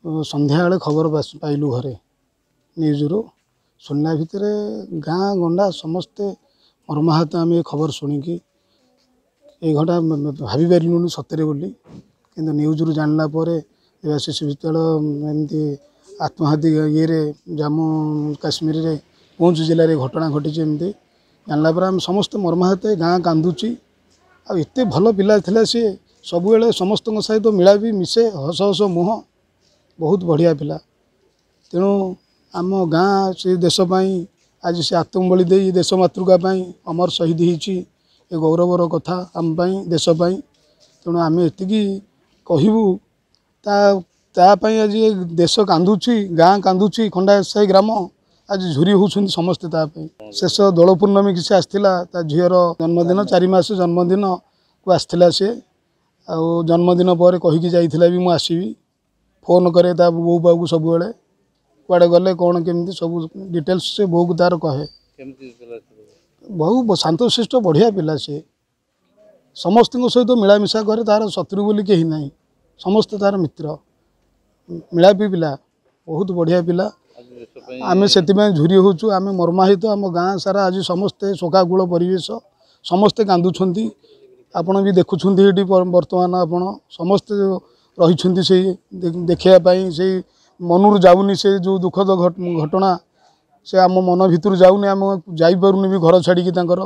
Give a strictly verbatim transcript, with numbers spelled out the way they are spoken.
ସନ୍ଧ୍ୟାବେଳେ ଖବର ପାଇଲୁ ଘରେ ନ୍ୟୁଜ୍ରୁ। ଶୁଣିଲା ଭିତରେ ଗାଁ ଗଣ୍ଡା ସମସ୍ତେ ମର୍ମାହତ। ଆମେ ଏ ଖବର ଶୁଣିକି ଏଇ ଘଟଣା ଭାବିପାରିଲୁନି ସତରେ ବୋଲି, କିନ୍ତୁ ନ୍ୟୁଜ୍ରୁ ଜାଣିଲା ପରେ ଦେବାଶିଷ ବିଶ୍ୱାଳ ଏମିତି ଆତ୍ମଘାତୀ ଇଏରେ ଜାମ୍ମୁ କାଶ୍ମୀରରେ ପୁଞ୍ଚ ଜିଲ୍ଲାରେ ଘଟଣା ଘଟିଛି, ଏମିତି ଜାଣିଲା ପରେ ଆମେ ସମସ୍ତେ ମର୍ମାହତ। ଗାଁ କାନ୍ଦୁଛି। ଆଉ ଏତେ ଭଲ ପିଲା ଥିଲା ସିଏ, ସବୁବେଳେ ସମସ୍ତଙ୍କ ସହିତ ମିଳାବି ମିଶେ, ହସ ହସ ମୁହଁ, ବହୁତ ବଢ଼ିଆ ପିଲା। ତେଣୁ ଆମ ଗାଁ ସେ ଦେଶ ପାଇଁ ଆଜି ସେ ଆତ୍ମବଳି ଦେଇ ଦେଶ ମାତୃକା ପାଇଁ ଅମର ଶହୀଦ ହେଇଛି। ଏ ଗୌରବର କଥା ଆମ ପାଇଁ, ଦେଶ ପାଇଁ। ତେଣୁ ଆମେ ଏତିକି କହିବୁ, ତା ତା ପାଇଁ ଆଜି ଦେଶ କାନ୍ଦୁଛି, ଗାଁ କାନ୍ଦୁଛି, ଖଣ୍ଡାୟତ ସାହି ଗ୍ରାମ ଆଜି ଝୁରି ହେଉଛନ୍ତି ସମସ୍ତେ ତା ପାଇଁ। ଶେଷ ଦୋଳ ପୂର୍ଣ୍ଣମୀକି ସେ ଆସିଥିଲା, ତା ଝିଅର ଜନ୍ମଦିନ, ଚାରି ମାସ ଜନ୍ମଦିନକୁ ଆସିଥିଲା ସିଏ। ଆଉ ଜନ୍ମଦିନ ପରେ କହିକି ଯାଇଥିଲା ବି ମୁଁ ଆସିବି। ଫୋନ୍ କରେ ତା ବୋଉ ପାଖକୁ ସବୁବେଳେ, କୁଆଡ଼େ ଗଲେ କ'ଣ କେମିତି ସବୁ ଡିଟେଲ୍ସ ସେ ବୋଉକୁ ତାର କହେ। ବହୁ ଶାନ୍ତଶିଷ୍ଟ ବଢ଼ିଆ ପିଲା ସିଏ, ସମସ୍ତଙ୍କ ସହିତ ମିଳାମିଶା କରେ। ତାର ଶତ୍ରୁ ବୋଲି କେହି ନାହିଁ, ସମସ୍ତେ ତାର ମିତ୍ର। ମିଳାପି ପିଲା, ବହୁତ ବଢ଼ିଆ ପିଲା। ଆମେ ସେଥିପାଇଁ ଝୁରି ହେଉଛୁ, ଆମେ ମର୍ମାହିତ। ଆମ ଗାଁ ସାରା ଆଜି ସମସ୍ତେ ଶୋକାକୁଳ ପରିବେଶ, ସମସ୍ତେ କାନ୍ଦୁଛନ୍ତି। ଆପଣ ବି ଦେଖୁଛନ୍ତି ଏଠି ବର୍ତ୍ତମାନ, ଆପଣ ସମସ୍ତେ ରହିଛନ୍ତି ସେଇ ଦେଖିବା ପାଇଁ। ସେଇ ମନରୁ ଯାଉନି ସେ ଯେଉଁ ଦୁଃଖଦ ଘଟଣା, ସେ ଆମ ମନ ଭିତରୁ ଯାଉନି। ଆମେ ଯାଇପାରୁନି ବି ଘର ଛାଡ଼ିକି ତାଙ୍କର।